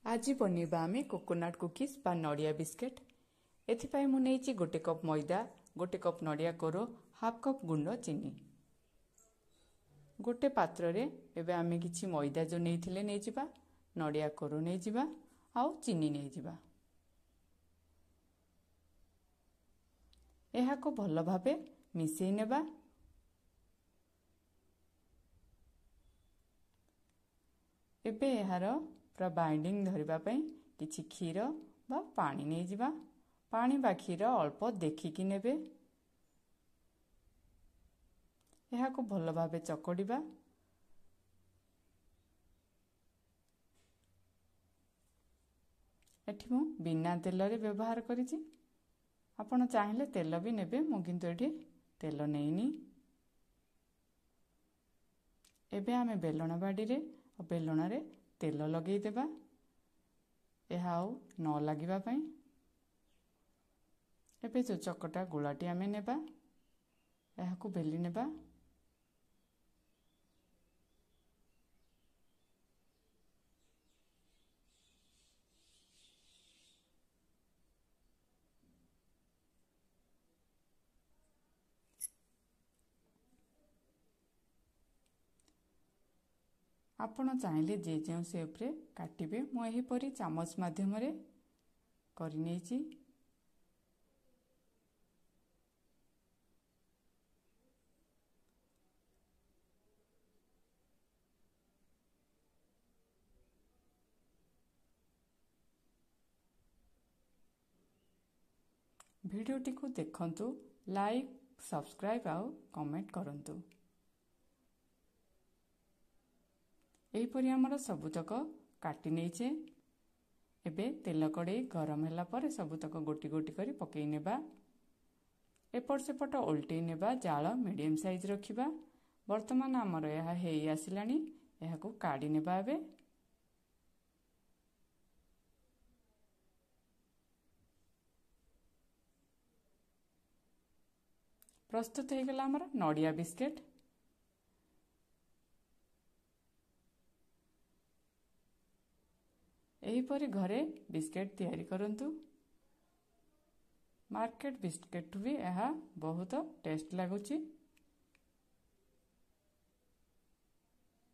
ଆଜି ବନେଇବା ଆମେ କୋକୋନଟ୍ କୁକିଜ୍ ବା ନଡ଼ିଆ ବିସ୍କେଟ୍। ଏଥିପାଇଁ ମୁଁ ନେଇଛି 1 କପ୍ ମଇଦା, 1 କପ୍ ନଡ଼ିଆ କୋର, ହାଫ୍ କପ୍ ଗୁଣ୍ଡ ଚିନି। ଗୋଟେ ପାତ୍ରରେ ଏବେ ଆମେ କିଛି ମଇଦା ଯେଉଁ ନେଇଥିଲେ ନେଇଯିବା, ନଡ଼ିଆ କୋର ନେଇଯିବା ଆଉ ଚିନି ନେଇଯିବା। ଏହାକୁ ଭଲ ଭାବେ ମିଶେଇ ନେବା। ଏବେ ଏହାର ପୁରା ବାଇଣ୍ଡିଂ ଧରିବା ପାଇଁ କିଛି କ୍ଷୀର ବା ପାଣି ନେଇଯିବା। ପାଣି ବା କ୍ଷୀର ଅଳ୍ପ ଦେଖିକି ନେବେ। ଏହାକୁ ଭଲ ଭାବେ ଚକଡ଼ିବା। ଏଠି ମୁଁ ବିନା ତେଲରେ ବ୍ୟବହାର କରିଛି, ଆପଣ ଚାହିଁଲେ ତେଲ ବି ନେବେ, ମୁଁ କିନ୍ତୁ ଏଠି ତେଲ ନେଇନି। ଏବେ ଆମେ ବେଲଣ ବାଡ଼ିରେ ଆଉ ବେଲଣରେ ତେଲ ଲଗେଇଦେବା, ଏହା ଆଉ ନ ଲାଗିବା ପାଇଁ। ଏବେ ଯେଉଁ ଚକଟା ଗୁଳାଟି ଆମେ ନେବା, ଏହାକୁ ବେଲି ନେବା। ଆପଣ ଚାହିଁଲେ ଯେ ଯେଉଁ ସେପ୍ରେ କାଟିବେ, ମୁଁ ଏହିପରି ଚାମଚ ମାଧ୍ୟମରେ କରିନେଇଛି। ଭିଡ଼ିଓଟିକୁ ଦେଖନ୍ତୁ, ଲାଇକ୍, ସବସ୍କ୍ରାଇବ୍ ଆଉ କମେଣ୍ଟ କରନ୍ତୁ। ଏହିପରି ଆମର ସବୁତକ କାଟି ନେଇଛେ। ଏବେ ତେଲ କଡ଼େଇ ଗରମ ହେଲା ପରେ ସବୁତକ ଗୋଟି ଗୋଟି କରି ପକେଇ ନେବା। ଏପଟ ସେପଟ ଓଲଟେଇ ନେବା। ଜାଳ ମିଡ଼ିୟମ୍ ସାଇଜ୍ ରଖିବା। ବର୍ତ୍ତମାନ ଆମର ଏହା ହେଇ ଆସିଲାଣି, ଏହାକୁ କାଢ଼ି ନେବା। ଏବେ ପ୍ରସ୍ତୁତ ହେଇଗଲା ଆମର ନଡ଼ିଆ ବିସ୍କେଟ୍। ଏହିପରି ଘରେ ବିସ୍କେଟ୍ ତିଆରି କରନ୍ତୁ। ମାର୍କେଟ ବିସ୍କେଟ୍ଠୁ ବି ଏହା ବହୁତ ଟେଷ୍ଟ ଲାଗୁଛି।